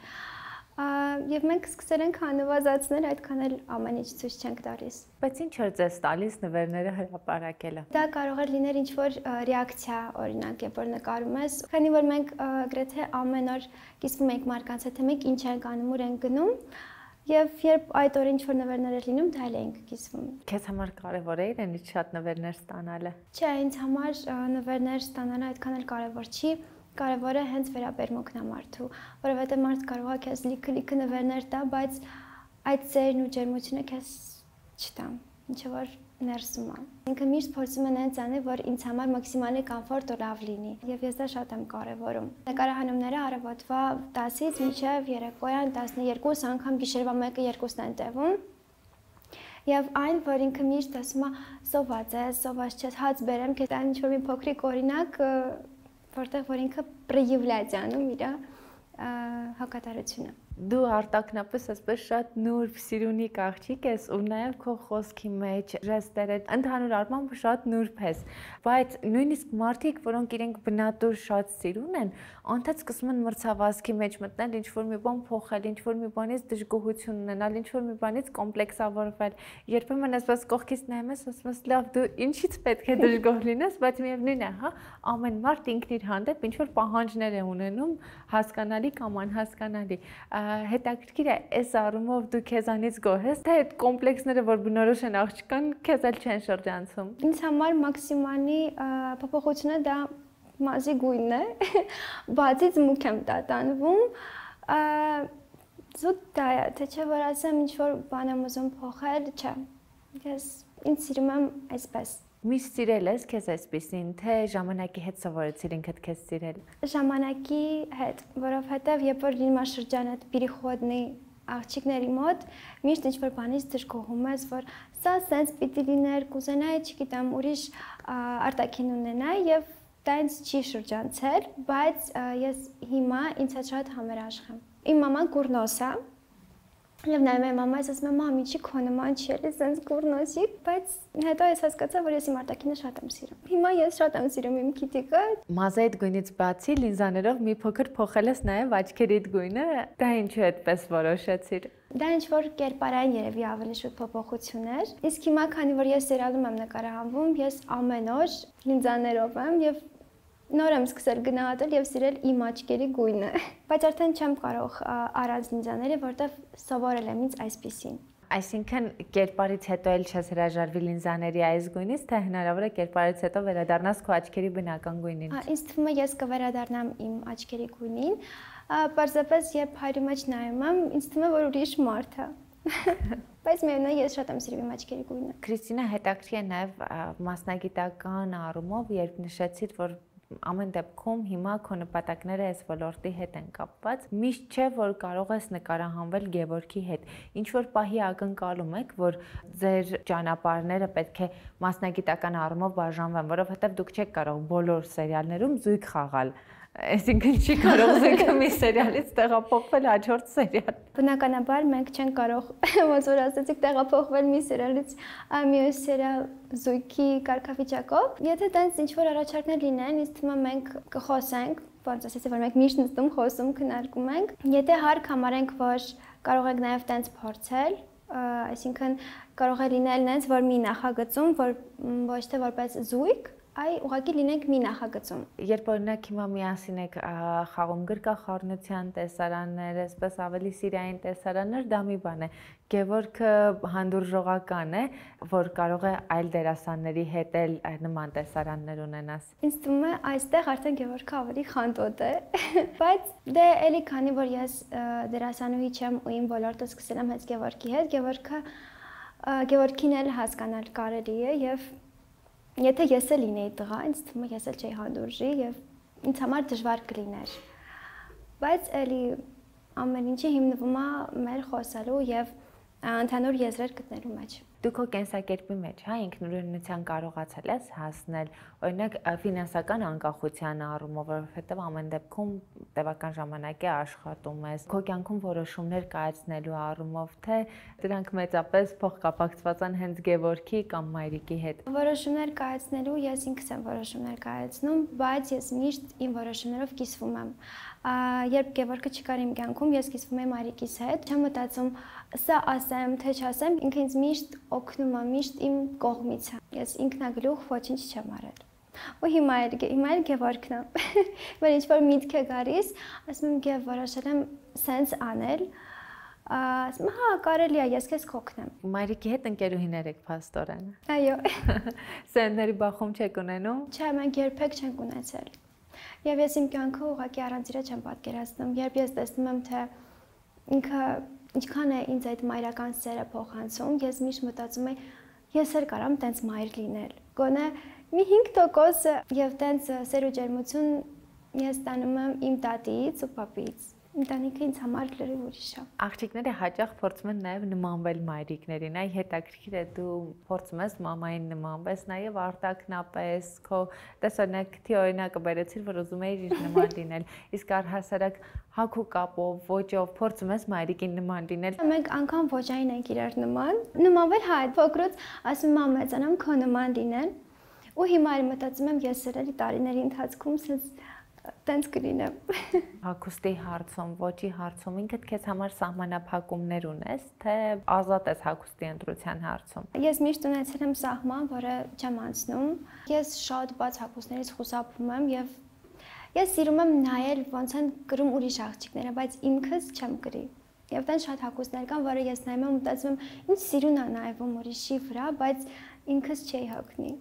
B: եւ մենք սկսել ենք հանվազացնել, այդքան էլ ամեն ինչ ցույց չենք տալիս։
A: Բայց ինչ էր ձեզ տալիս նվերները հրապարակելը։
B: Դա կարող է լինել ինչ որ ռեակցիա, օրինակ, երբ որ նկարում ես, քանի որ մենք գրեթե ամեն օր կիսվում ենք մարդկանց հետ, թե մենք ինչ ենք անում, ուր ենք գնում։ Եվ երբ այդ օրը ինչ-որ նվերներ էր լինում, դա էլ էինք կիսվում։
A: Քեզ համար կարևոր է իրենից շատ նվերներ ստանալը։
B: Չէ, ինձ համար նվերներ ստանալը այդքան էլ կարևոր չի, կարևորը հենց վերաբերմունքն է մարդու, որովհետև մարդ կարող է քեզ լիքը-լիքը նվերներ տա, բայց այդ սերն ու ջերմությունը քեզ չտա, ինչը որ ներսում է։ Ինքը միշտ փորձում է նենց անել, որ ինձ համար մաքսիմալի կոմֆորտ ու լավ լինի, եւ ես դա շատ եմ կարևորում։ Նկարահանումները առավոտվա տասից մինչև երեկոյան տասներկուս, անգամ գիշերվա մեկը երկուսն են տևում։ Եվ այն, որ ինքը միշտ ասում է, սոված ես, սոված չես, հաց բերեմ, քեզ այն ինչ-որ մի փոքրիկ օրինակ, որտեղ որ ինքը պրեյավլյաց է անում իր հակատարությունը։
A: Դու արտակնապես այսպես շատ նուրբ սիրունիկ աղջիկ ես ու նաև քո խոսքի մեջ ժեստերը ընդհանուր առմամբ շատ նուրբ ես, բայց նույնիսկ մարդիկ, որոնք իրենք բնատուր շատ սիրուն են, անդադ սկսում են մրցավազքի մեջ մտնել, ինչ-որ մի բան փոխել, ինչ-որ մի բանից դժգոհություն ունենալ, ինչ-որ մի բանից կոմպլեքսավորվել։ Երբեմն այսպես կողքից նայում ես, ասում ես, լավ, դու ինչից պետք է դժգոհ լինես, բայց միևնույն է, հա, ամեն մարդ ինքն իր հանդեպ ինչ-որ պահանջներ է ունենում, հասկանալի կամ անհասկանալի։ Հետաքրքիր է, այս առումով դու քեզանից գոհ ես, թե այդ կոմպլեքսները, որ բնորոշ են աղջկան, քեզ էլ չեն շրջանցում։
B: Ինձ համար մաքսիմալի փոփոխությունը դա մազի գույնն է, բացից մուք եմ տատանվում, զուտ դա է, թե չէ որ ասեմ ինչ-որ բան եմ ուզում փոխել, չէ, ես ինձ սիրում եմ այսպես։
A: Միշտ սիրել ես քեզ այսպեսին, թե ժամանակի հետ սովորեցիր ինքդ քեզ սիրել։
B: Ժամանակի հետ, որովհետև երբ որ լինում է շրջանը պիրիխոդնի աղջիկների մոտ, միշտ ինչ-որ բանից դժգոհում ես, որ սա սենց պիտի լիներ, կուզենայի, չգիտեմ, ուրիշ արտաքին ունենայի եւ դա ինձ չի շրջանցել, բայց ես հիմա ինձ հետ շատ համերաշխ եմ։ Իմ մաման կուրնոս է, եւ նայում եմ մամայից, ասում եմ, մամ, ինչի քո նման չի էլի, սենց կուրնոսի, բայց հետո ես հասկացա, որ ես իմ արտաքինը շատ եմ սիրում։ Հիմա ես շատ եմ սիրում իմ քիթիկը։
A: Մազայդ գույնից բացի լինզաներով մի փոքր փոխել ես նաեւ աչքերիդ գույնը, դա ինչու այդպես որոշեցիր։
B: Դա ինչ որ կերպարային երևի ավելի շուտ փոփոխություն էր։ Իսկ հիմա, քանի որ ես սերիալում եմ նկարահանվում, ես ամեն օր լինզաներով եմ եւ նոր եմ սկսել գնահատել եւ սիրել իմ աչքերի գույնը, բայց արդեն չեմ կարող առանց լինզաների, որտեվ սովորել եմ ինձ այսպեսին։
A: Այսինքն կերպարից հետո էլ չես հրաժարվի լինզաների այս գույնից, թե հնարավոր է կերպարից հետո վերադառնաս քո աչքերի բնական գույնին։
B: Ինձ թվում է ես կվերադառնամ իմ աչքերի գույնին, պարզապես երբ հայրի մեջ նայում եմ, ինձ թվում է որ ուրիշ մարդ է։ Բայց միևնույն ես շատ եմ սիրում իմ աչքերի գույնը։
A: Քրիստինա, հետաքրքիր է նաև մասնագիտական առումով, երբ նշեցիր, որ ամեն դեպքում հիմա քո նպատակները այս ոլորտի հետ են կապված, միշտ չէ, որ կարող ես նկարահանվել Գևորգի հետ։ Ինչ որ պահի ակնկալում եք, որ ձեր ճանապարհները պետք է մասնագիտական առումով բաժանվեն, որովհետև դուք չեք կարող բոլոր սերիալներում զույգ խաղալ։ Այսինքն չի կարող զույգը մի սերիալից տեղափոխվել հաջորդ սերիալ։
B: Բնականաբար մենք չենք կարող, ոնց որ ասացիք, տեղափոխվել մի սերիալից մյուս սերիալ զույգի կարգավիճակով։ Եթե տենց ինչ-որ առաջարկներ լինեն, ինձ թվում է մենք կխոսենք, ոնց ասեցի, որ մենք միշտ նստում, խոսում, քննարկում ենք։ Եթե հարկ համարենք, որ կարող ենք նաև տենց փորձել, այսինքն կարող է լինել նենց, որ մի նախագծում, որ ոչ թե որպես զույգ, այ ուղղակի լինենք մի նախագծում։
A: Երբ օրինակ հիմա միասին եք խաղում գրկախառնության տեսարաններ, այսպես ավելի սիրային տեսարաններ, դա մի բան է։ Գևորգը հանդուրժողական է, որ կարող է այլ դերասանների հետ էլ նման տեսարաններ ունենաս։
B: Ինձ թվում է այստեղ արդեն Գևորգը ավելի խանդոտ է, բայց դե էլի քանի որ ես դերասանուհի չեմ ու իմ ոլորտը սկսել եմ հենց Գևորգի հետ, Գևորգը Գևորգին էլ հասկանալ կարելի է եւ եթե ես էլ լինեի տղա, ինձ թվում է ես էլ չէի հանդուրժի եւ ինձ համար դժվար կլիներ։ Բայց էլի ամեն ինչը հիմնվում է մեր խոսալու եւ ընդհանուր եզրեր գտնելու մեջ։
A: Դու քո կենսակերպի մեջ, հա, ինքնուրույնության կարողացել ես հասնել, օրինակ ֆինանսական անկախության առումով, որովհետև ամեն դեպքում տևական ժամանակ է աշխատում ես, քո կյանքում որոշումներ կայացնելու առումով, թե դրանք մեծապես փոխկապակցված են հենց Գևորգի կամ մայրիկի հետ։
B: Որոշումներ կայացնելու ես ինքս եմ որոշումներ կայացնում, բայց ես միշտ իմ որոշումներով կիսվում եմ։ Երբ Գևորգը չկար իմ կյանքում, ես կիսվում եմ մայրիկիս հետ, չեմ մտածում սա ասեմ, թե չասեմ, ինքը ինձ միշտ օգնում է, միշտ իմ կողմից է։ Ես ինքնագլուխ ոչինչ չեմ արել։ Ու հիմա էլ հիմա էլ Գևորգն է։ Որ ինչ որ միտք է գալիս, ասում եմ Գև որոշել եմ սենց անել, ասում եմ հա կարելի է, ես քեզ կօգնեմ։
A: Մայրիկի հետ ընկերուհիներ եք փաստորեն։
B: Այո։
A: Սերնդերի բախում չեք ունենում։
B: Չէ, մենք երբեք չենք ունեցել։ Եվ ես իմ կյանքը ուղղակի առանց իրա չեմ պատկերացնում, երբ ես տեսնում եմ, թե ինքը ինչքան է ինձ այդ մայրական սերը փոխանցում, ես միշտ մտածում եմ, ես էլ կարամ տենց մայր լինել։ Գոնե մի հինգ տոկոս եւ տենց սեր ու ջերմություն ես ստանում եմ իմ տատից ու պապից։ Ընտանիքը ինձ համար լրիվ ուրիշ է։
A: Աղջիկները հաճախ փորձում են նաև նմանվել մայրիկներին, այ հետաքրքիր է դու փորձում ես մամային նմանվես, նաև արտակնապես, քո տեսօրինակ թի օրինակը բերեցիր, որ ուզում էիր իր նման լինել, իսկ առհասարակ հագու կապով, ոճով փորձում ես մայրիկին նման լինել։
B: Մենք անգամ ոճային ենք իրար նման, նմանվել հա այդ փոքրուց ասում եմ մեծանամ քո նման լինել, ու հիմա էլ մտածում եմ ես էլ տարիների ընթացքում sense տենց կլինեմ։
A: Հագուստի հարցում, ոճի հարցում ինքդ քեզ համար սահմանափակումներ ունես, թե ազատ ես հագուստի ընտրության հարցում։
B: Ես միշտ ունեցել եմ սահման, որը չեմ անցնում։ Ես շատ բաց հագուստներից խուսափում եմ եւ ես սիրում եմ նայել ոնց են կրում ուրիշ աղջիկները, բայց ինքս չեմ կրի։ Եվ տենց շատ հագուստներ կան, որը ես նայում եմ ու մտածում եմ, ինչ սիրուն է նայվում ուրիշի վրա, բայց ինքս չի հագնի։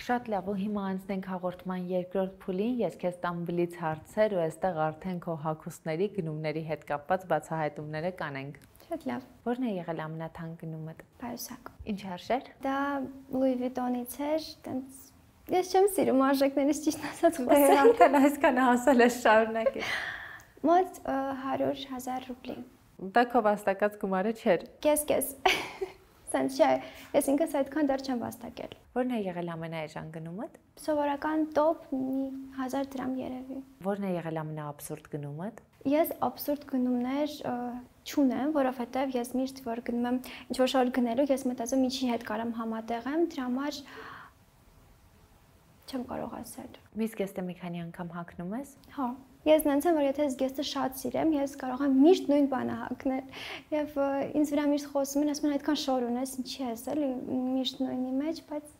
A: Շատ լավ, ու հիմա անցնենք հաղորդման երկրորդ փուլին, ես քեզ տամ բլից հարցեր ու այստեղ արդեն քո հագուստների գնումների հետ կապված բացահայտումները կանենք։
B: Շատ լավ։
A: Որն է եղել ամենաթանկ գնումդ։
B: Պայուսակ։
A: Ինչ արժեր։
B: Դա Louis Vuitton-ից էր, տենց ես չեմ սիրում արժեքներից ճիշտ ասած
A: խոսել։ Դե արդեն այսքան ասել ես շարունակի։
B: Մոտ հարյուր հազար ռուբլի։
A: Դա քո վաստակած գումարը չէր։
B: Կես-կես։ Սենց չէ, ես ինքս այդքան դեռ չեմ վաստակել։
A: Որն է եղել ամենաէժան գնումդ։
B: Սովորական տոպ մի հազար դրամ երևի։
A: Որն է եղել ամենաաբսուրդ գնումդ։
B: Ես աբսուրդ գնումներ չունեմ, որովհետև ես միշտ որ գնում եմ ինչ-որ շոր գնելու, ես մտածում ինչի հետ կարամ համատեղեմ, դրա համար չեմ կարող ասել։
A: Միս գեստը մի քանի անգամ հագնում ես։
B: Հա։ Ես նենց եմ, որ եթե ես գեստը շատ սիրեմ, ես կարող եմ միշտ նույն բանը հագնել։ Եվ ինձ վրա միշտ խոսում են, ասում են այդքան շոր ունես, ինչի ես էլի միշտ նույնի մեջ, բայց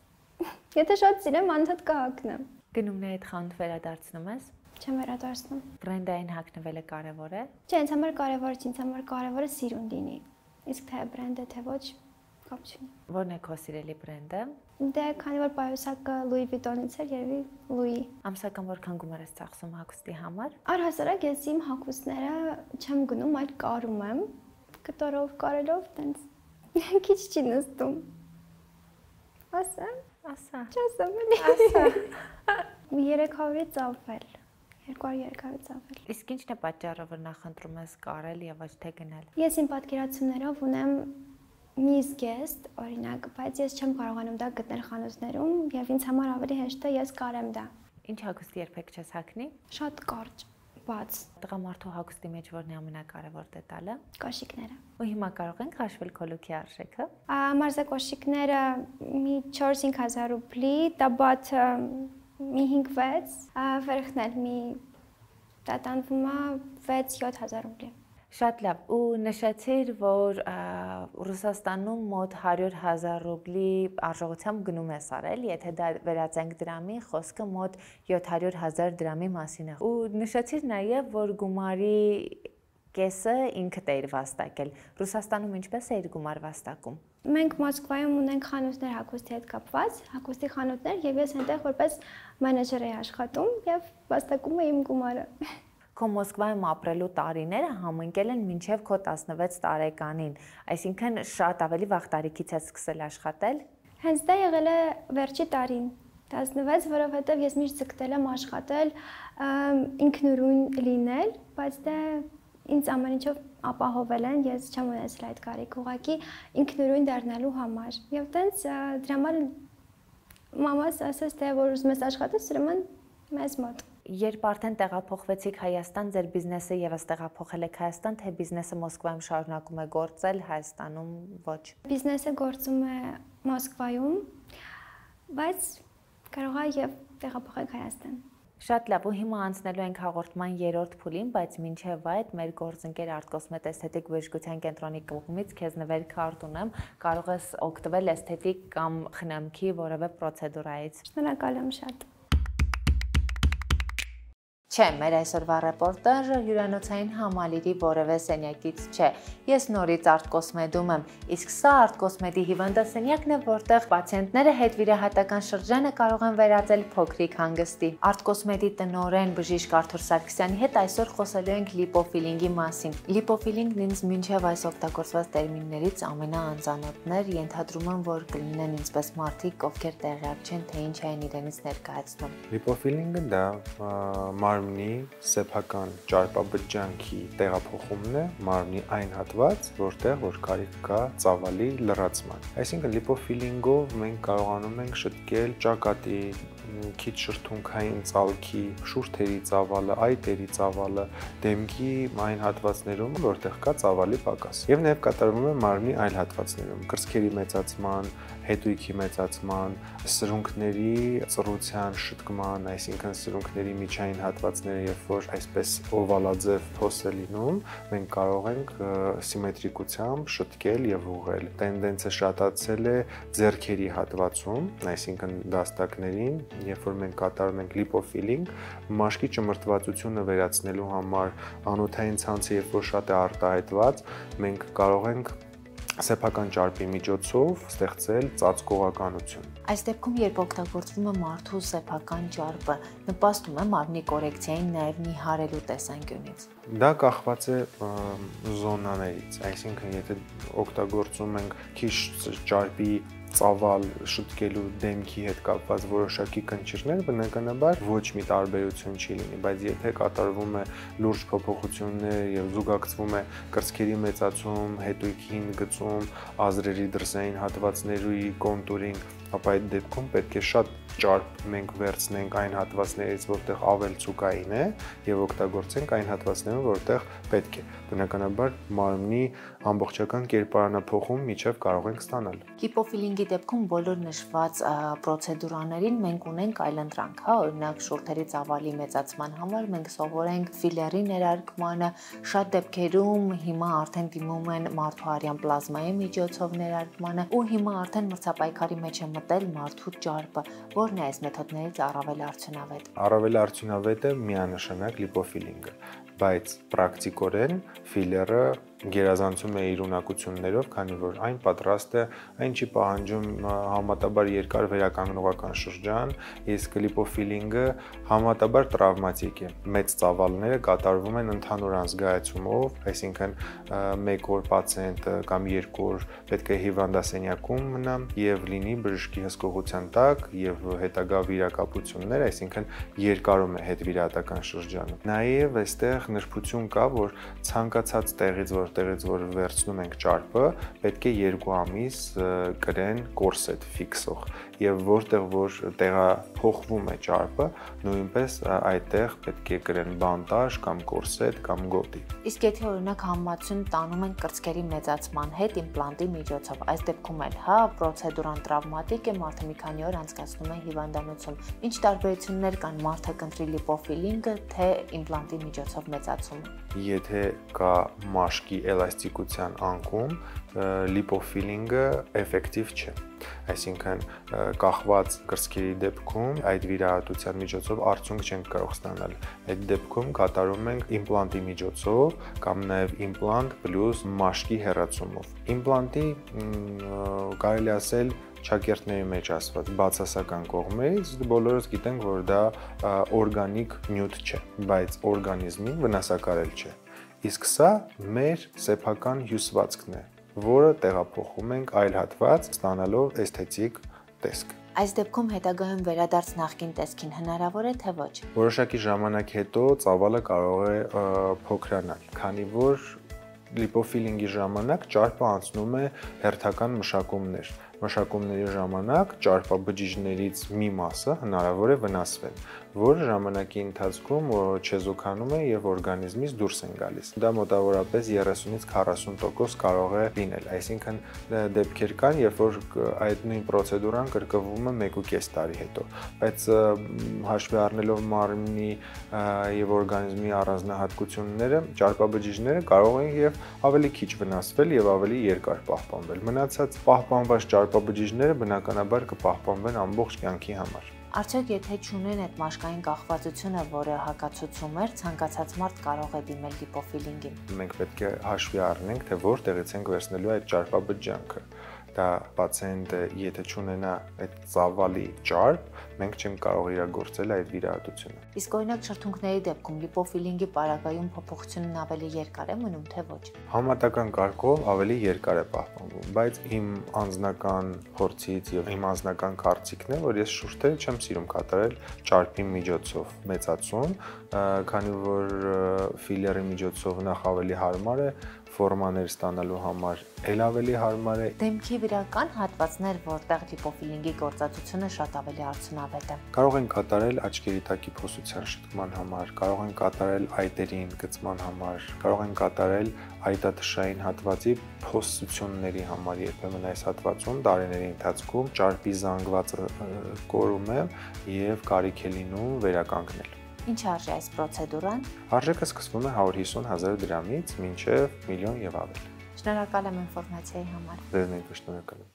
B: եթե շատ սիրեմ, անդադ կհագնեմ։
A: Գնումներիդ խանութ վերադարձնում ես։
B: Չեմ վերադարձնում։
A: Բրենդային հագնվելը կարևոր է։
B: Չէ, ինձ համար կարևորը չի, ինձ համար կարևորը սիրուն լինի։ Իսկ թե բրենդը թե ոչ, կապ չունի։
A: Որն է քո սիրելի բրենդը։
B: Դե քանի որ պայուսակը Louis Vuitton-ից էր, երևի Louis։
A: Ամսական որքան գումար ես ծախսում հագուստի համար։
B: Առհասարակ ես իմ հագուստները չեմ գնում, այլ կարում եմ, կտորով կարելով, տենց քիչ չի նստում։ Ասա,
A: ասա։
B: Չասեմ էլի։ Ասա։ երեք հարյուրից ավել։ երկու հարյուր երեք հարյուր ծավել։
A: Իսկ ի՞նչն է պատճառը, որ նախընտրում ես կարել եւ ոչ թե գնել։
B: Ես իմ պատկերացումներով ունեմ մի զգեստ, օրինակ, բայց ես չեմ կարողանում դա գտնել խանութներում եւ ինձ համար ավելի հեշտ է ես կարեմ դա։
A: Ինչ հագուստ երբեք չես հագնի։
B: Շատ կարճ, բաց։
A: Տղամարդու հագուստի մեջ որն է ամենակարևոր դետալը։
B: Կոշիկները։
A: Ու հիմա կարող ենք հաշվել քո լուքի արժեքը։
B: Մարզակոշիկները մի չորս-հինգ հազար ռուբլի, տաբաթը մի հինգ-վեց, վերքնել մի դա տանվում է վեց-յոթ հազար ռուբլի։
A: Շատ լավ, ու նշեցիր, որ Ռուսաստանում մոտ հարյուր հազար ռուբլի արժողությամբ գնում ես արել, եթե դա վերածենք դրամի, խոսքը մոտ յոթ հարյուր հազար դրամի մասին է։ Ու նշեցիր նաև, որ գումարի կեսը ինքդ էիր վաստակել։ Ռուսաստանում ինչպես էիր գումար վաստակում։
B: Մենք Մոսկվայում ունենք խանութներ հագուստի հետ կապված, հագուստի խանութներ, եւ ես այնտեղ որպես մենեջեր էի աշխատում եւ վաստակում էի իմ գումարը։
A: Քո Մոսկվայում ապրելու տարիները համընկել են մինչև քո տասնվեց տարեկանին, այսինքն շատ ավելի վաղ տարիքից ես սկսել աշխատել։
B: Հենց դա եղել է վերջի տարին, տասնվեց, որովհետեւ ես միշտ ցկտել եմ աշխատել, ինքնուրույն լինել, բայց դա ինձ ամեն ինչով ապահովել են, ես չեմ ունեցել այդ կարիք, ուղղակի ինքնուրույն դառնալու համար։ Եվ տենց դրա համար մամաս ասաց, թե որ ուզում ես աշխատես, ուրեմն մեզ մոտ։
A: Երբ արդեն տեղափոխվեցիք Հայաստան, ձեր բիզնեսը եւս տեղափոխել եք Հայաստան, թե բիզնեսը Մոսկվայում շարունակում է գործել, Հայաստանում ոչ։
B: Բիզնեսը գործում է Մոսկվայում, բայց կարող է եւ տեղափոխել Հայաստան։
A: Շատ լավ, ու հիմա անցնելու ենք հաղորդման երրորդ փուլին, բայց մինչև այդ մեր գործընկեր Art-Cosmet Aesthetic բժշկության կենտրոնի կողմից քեզ նվեր քարտ ունեմ, կարող ես օգտվել էսթետիկ կամ խնամքի որևէ պրոցեդուրայից։
B: Շնորհակալ եմ շատ։
A: Չէ, մեր այսօրվա ռեպորտաժը հյուրանոցային համալիրի որևէ սենյակից չէ։ Ես նորից Art-Cosmet-ում եմ, իսկ սա Art-Cosmet-ի հիվանդասենյակն է, որտեղ պացիենտները հետվիրահատական շրջանը կարող են վերածել փոքրիկ հանգստի։ Art-Cosmet-ի տնօրեն բժիշկ Արթուր Սարգսյանի հետ այսօր խոսելու ենք լիպոֆիլինգի մասին։ Լիպոֆիլինգն ինձ մինչև այս օգտագործված տերմիններից ամենաանծանոթն էր, ենթադրում եմ, որ կլինեն ինձպես մարդիկ, ովքեր տեղյակ չեն, թե ինչ են իրենից ներկայացնում։
C: Լիպոֆիլինգը դա մարմնի սեփական ճարպաբջջանքի տեղափոխումն է մարմնի այն հատված, որտեղ որ կարիք կա ծավալի լրացման։ Այսինքն լիպոֆիլինգով մենք կարողանում ենք շտկել ճակատի, քիչ շրթունքային ծալքի, շուրթերի ծավալը, այտերի ծավալը, դեմքի այն հատվածներում, որտեղ կա ծավալի պակաս։ Եվ նաև կատարվում է մարմնի այլ հատվածներում, կրծքերի մեծացման, հետույքի մեծացման, սրունքների ծռության շտկման, այսինքն սրունքների միջային հատվածները, երբ որ այսպես օվալաձև փոս է լինում, մենք կարող ենք սիմետրիկությամբ շտկել եւ ուղղել։ Տենդենսը շատացել է ձեռքերի հատվածում, այսինքն դաստակներին, երբ որ մենք կատարում ենք լիպոֆիլինգ, մաշկի ճմրթվածությունը վերացնելու համար անոթային ցանցը երբ որ շատ է արտահայտված, մենք կարող ենք սեփական ճարպի միջոցով ստեղծել ծածկողականություն։
A: Այս դեպքում, երբ օգտագործվում է մարդու սեփական ճարպը, նպաստում է մարմնի կորեկցիային նաև նիհարելու տեսանկյունից։
C: Դա կախված է զոնաներից, այսինքն եթե օգտագործում ենք քիչ ճարպի ծավալ շտկելու դեմքի հետ կապված որոշակի կնճիռներ, բնականաբար ոչ մի տարբերություն չի լինի, բայց եթե կատարվում է լուրջ փոփոխություններ եւ զուգակցվում է կրծքերի մեծացում, հետույքին գծում, ազրերի դրսային հատվածների կոնտուրինգ, ապա այդ դեպքում պետք է շատ ճարպ մենք վերցնենք այն հատվածներից, որտեղ ավել ցուկային է, եւ օգտագործենք այն հատվածներում, որտեղ պետք է։ Բնականաբար մարմնի ամբողջական կերպարանափոխում միջև կարող ենք ստանալ։
A: Լիպոֆիլինգի դեպքում բոլոր նշված պրոցեդուրաներին մենք ունենք այլընտրանք, հա, օրինակ շուրթերի ծավալի մեծացման համար մենք սովորենք ֆիլերի ներարկմանը, շատ դեպքերում հիմա արդեն դիմում են մարդու արյան պլազմայի միջոցով ներարկմանը, ու հիմա արդեն մրցապայքարի մեջ է մտել մարդու ճարպը, որն է այս մեթոդներից առավել արդյունավետ։
C: Առավել արդյունավետ է միանշանակ լիպոֆիլինգը, բայց պրակտիկորեն ֆիլերը գերազանցում է իր ունակություններով, քանի որ այն պատրաստ է, այն չի պահանջում համատաբար երկար վերականգնողական շրջան, իսկ լիպոֆիլինգը համատաբար տրավմատիկ է։ Մեծ ծավալները կատարվում են ընդհանուր անզգայացումով, այսինքն մեկ օր պացիենտը կամ երկու օր պետք է հիվանդասենյակում մնա եւ լինի բժշկի հսկողության տակ եւ հետագա վիրակապություններ, այսինքն երկարում է հետվիրահատական շրջանը։ Նաեւ այստեղ նրբություն կա, որ ցանկացած տեղից, որտեղից որ վերցնում ենք ճարպը, պետք է երկու ամիս կրեն կորսետ ֆիքսող եւ որտեղ որ տեղափոխվում է ճարպը, նույնպես այդտեղ պետք է կրեն բանտաժ կամ կորսետ կամ գոտի։
A: Իսկ եթե օրինակ համացություն տանում են կրծքերի մեծացման հետ իմպլանտի միջոցով, այս դեպքում էլ հա պրոցեդուրան տրավմատիկ է, մարդը մի քանի օր անցկացնում է հիվանդանոցում։ Ինչ տարբերություններ կան մարդը կընտրի լիպոֆիլինգը, թե իմպլանտի միջոցով մեծացումը։
C: Եթե կա մաշկի էլաստիկության անկում, լիպոֆիլինգը էֆեկտիվ չէ։ Այսինքն կախված կրծքերի դեպքում այդ վիրահատության միջոցով արդյունք չենք կարող ստանալ։ Այդ դեպքում կատարում ենք իմպլանտի միջոցով կամ նաև իմպլանտ պլյուս մաշկի հեռացումով։ Իմպլանտի կարելի ասել ճակերտների մեջ ասված բացասական կողմից բոլորս գիտենք, որ դա օրգանիկ նյութ չէ, բայց օրգանիզմին վնասակարել չէ։ Իսկ սա մեր սեփական հյուսվածքն է, որը տեղափոխում ենք այլ հատված, ստանալով էսթետիկ տեսք։
A: Այս դեպքում հետագայում վերադարձ նախկին տեսքին հնարավոր է, թե ոչ։
C: Որոշակի ժամանակ հետո ծավալը կարող է փոքրանալ, քանի որ լիպոֆիլինգի ժամանակ ճարպը անցնում է հերթական մշակումներ։ Մշակումների ժամանակ ճարպաբջիջներից մի մասը հնարավոր է վնասվել, որը ժամանակի ընթացքում չեզոքանում է եւ օրգանիզմից դուրս են գալիս։ Դա մոտավորապես երեսունից քառասուն տոկոս կարող է լինել, այսինքն դեպքեր կան, երբ որ այդ նույն պրոցեդուրան կրկնվում է մեկ ու կես տարի հետո, բայց հաշվի առնելով մարմնի եւ օրգանիզմի առանձնահատկությունները, ճարպաբջիջները կարող են եւ ավելի քիչ վնասվել եւ ավելի երկար պահպանվել։ Մնացած պահպանված ճարպաբջիջները բնականաբար կպահպանվեն ամբողջ կյանքի համար։
A: Արդյոք եթե չունեն այդ մաշկային կախվածությունը, որը հակացուցում էր, ցանկացած մարդ կարող է դիմել լիպոֆիլինգին։
C: Մենք պետք է հաշվի առնենք, թե որտեղից ենք վերցնելու այդ ճարպաբջջանքը։ Դա պացիենտը եթե չունենա այդ ծավալի ճարպ, մենք չենք կարող իրագործել այդ վիրահատությունը։
A: Իսկ օրինակ շրթունքների դեպքում լիպոֆիլինգի պարագայում փոփոխությունն ավելի երկար է մնում, թե ոչ։
C: Համատական կարգով ավելի երկար է պահպանվում, բայց իմ անձնական փորձից եւ իմ անձնական կարծիքն է, որ ես շուրթերը չեմ սիրում կատարել ճարպի միջոցով մեծացում, քանի որ ֆիլերի միջոցով նախ ավելի հարմար է, ֆորմաներ ստանալու համար էլ ավելի հարմար է։
A: Դեմքի վրական հատվածներ, որտեղ լիպոֆիլինգի գործածությունը շատ ավելի արդյունավետ է։
C: Կարող են կատարել աչքերի տակի փոսության շտկման համար, կարող են կատարել այտերի ընդգծման համար, կարող են կատարել այտաթշային հատվածի փոսությունների համար, երբեմն այս հատվածում տարիների ընթացքում ճարպի զանգվածը կորում է եւ կարիք է լինում վերականգնել։
A: Ինչ արժի այս պրոցեդուրան։
C: Արժեքը սկսվում է հարյուր հիսուն հազար դրամից մինչև միլիոն եւ ավելի։
A: Շնորհակալ եմ ինֆորմացիայի համար։
C: Ձեզ նույնպես շնորհակալ եմ։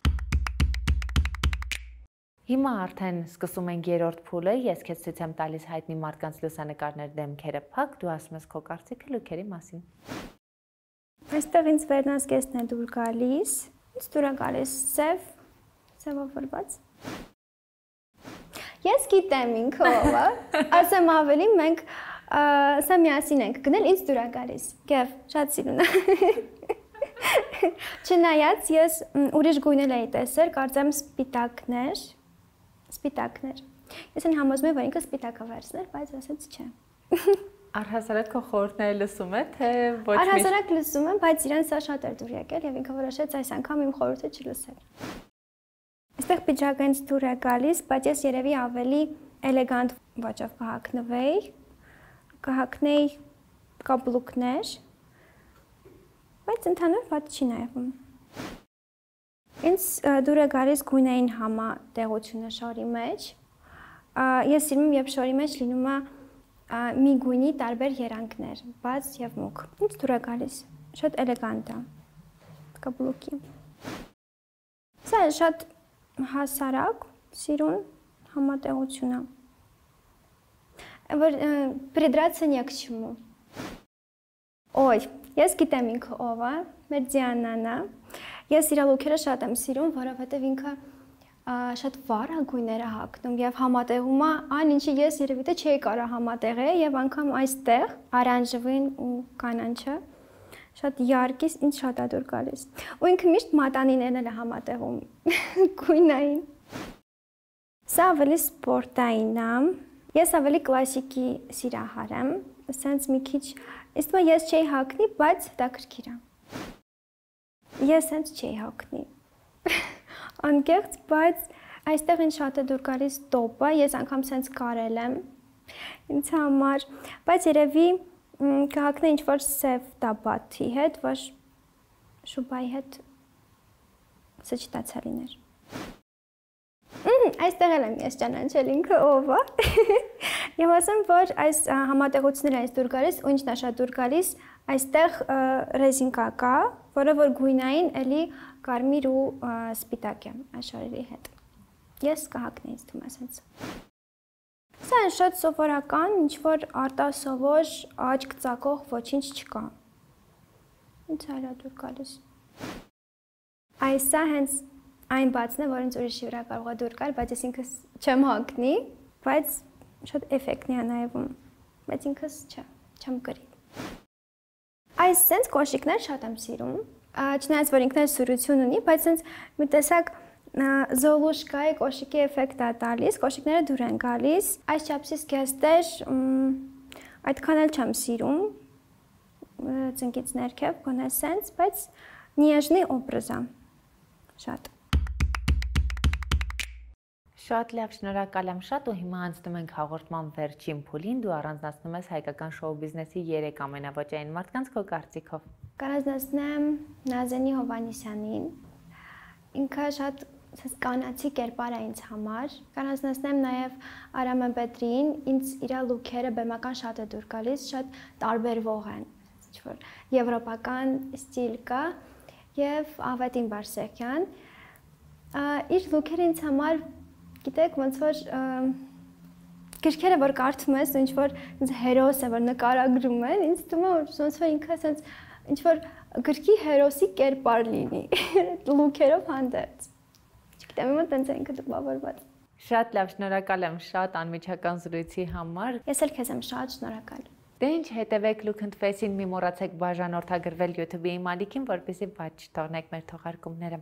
A: Հիմա արդեն սկսում ենք երրորդ փուլը, ես քեզ ցույց եմ տալիս հայտնի մարդկանց լուսանկարներ դեմքերը փակ, դու ասում ես քո կարծիքը լուքերի մասին։
B: Այստեղ ինձ վերնազգեստն է դուր գալիս, ինձ դուր է գալիս սև, սևավորված։ Ես գիտեմ ինքը ով է, ասեմ ավելի մենք սա միասին ենք գնել, ինձ դուր է գալիս։ Գև, շատ սիրուն է։ Չնայած ես ուրիշ գույնել էի տեսել, կարծեմ սպիտակներ, սպիտակներ։ Ես այն համոզում եմ, որ ինքը սպիտակը վերցներ, բայց ասեց չէ։
A: Առհասարակ քո խորհուրդները լսում է, թե ոչ մի։
B: Առհասարակ լսում եմ, բայց իրեն սա շատ էր դուր եկել եւ ինքը որոշեց այս անգամ իմ խորհուրդը չլսել։ Այստեղ պիջակը ինձ դուր է գալիս, բայց ես երևի ավելի էլեգանտ ոճով կհագնվեի, կհագնեի կապլուկներ, բայց ընդհանուր վատ չի նայվում։ Ինձ դուր է գալիս գույնային համատեղությունը շորի մեջ։ Ես սիրում եմ, երբ շորի մեջ լինում է մի գույնի տարբեր երանգներ, բաց եւ մուգ։ Ինձ դուր է գալիս, շատ էլեգանտ է կապլուկի։ Սա շատ հասարակ, սիրուն համատեղություն է, որ придраться не к чему։ Օй, ես գիտեմ ինքը ով է, մեր Դիանան է։ Ես իր լուքերը շատ եմ սիրում, որովհետև ինքը շատ վառ գույներ է հագնում եւ համատեղում է այն ինչի ես երևի թե չէի կարող համատեղել եւ անգամ այստեղ արանժևին ու կանանչը շատ յարկիս ինձ շատ է դուր գալիս։ Ու ինքը միշտ մատանիներն էլ է համատեղում գույնային։ Սա ավելի սպորտային է։ Ես ավելի կլասիկի սիրահար եմ, ասենց մի քիչ, իսկ ես չէի հագնի, բայց հետաքրքիր է։ Ես հենց չէի հագնի։ Անկեղծ, բայց այստեղ ինձ շատ է դուր գալիս տոպը, ես անգամ սենց կարել եմ ինձ համար, բայց երևի կհագնե ինչ-որ սև տաբաթի հետ, որ շուբայի հետ սեչտացա լիներ։ Այստեղ էլ եմ ես ճանաչել ինքը ով է։ Եվ ասեմ, որ այս համատեղությունները այս դուր գալիս, ու ինչն է շատ դուր գալիս, այստեղ ռեզինկա կա, որը որ գույնային էլի կարմիր ու սպիտակ է աշխարհի հետ։ Ես կհագնեի ինձ թվում է սենց։ Սա շատ սովորական, ինչ որ արտասովոր աչք ծակող ոչինչ չկա։ Ինձ այլ է դուր գալիս։ Այսա հենց այն բացն է, որ ինձ ուրիշի վրա կարող է դուր գալ, բայց ես ինքս չեմ հագնի, բայց շատ էֆեկտն է նայվում, բայց ինքս չէ, չեմ կրի։ Այս սենց կոշիկներ շատ եմ սիրում, չնայած որ ինքն էլ սուրություն ունի, բայց սենց մի տեսակ զոլուշկայի կոշիկի էֆեկտ է տալիս, կոշիկները դուր են գալիս, այս չափսի զգեստեր այդքան էլ չեմ սիրում, ծնկից ներքև, գոնե սենց, բայց նիեժնի օբրազ է, շատ։
A: Շատ լավ, շնորհակալ եմ շատ ու հիմա անցնում ենք հաղորդման վերջին փուլին, դու առանձնացնում ես հայկական շոու բիզնեսի երեք ամենաոճային մարդկանց քո կարծիքով։
B: Կառանձնացնեմ Նազենի Հովհաննիսյանին, ինքը շատ կանացի կերպար է ինձ համար, կառանձնացնեմ նաև Արամը Պետրին, ինձ իր լուքերը բեմական շատ է դուր գալիս, շատ տարբերվող են, ինչ-որ եվրոպական ստիլ կա, եւ Ավետին Բարսեղյան, իր լուքերը ինձ համար գիտեք, ոնց որ գրքերը որ կարդում ես, ինչ որ ինձ հերոս է որ նկարագրում են, ինձ թվում է ոնց որ ինքը ասենց ինչ որ գրքի հերոսի կերպար լինի, լուքերով հանդերձ։ Չգիտեմ, իմը տենց է ինքը տպավորված։
A: Շատ լավ, շնորհակալ եմ շատ անմիջական զրույցի համար։
B: Ես էլ քեզ եմ շատ շնորհակալ։
A: Դե ինչ, հետևեք Look&Face-ին, մի մոռացեք բաժանորդագրվել YouTube-ի իմ ալիքին, որպեսզի բաց չթողնեք մեր թողարկումները։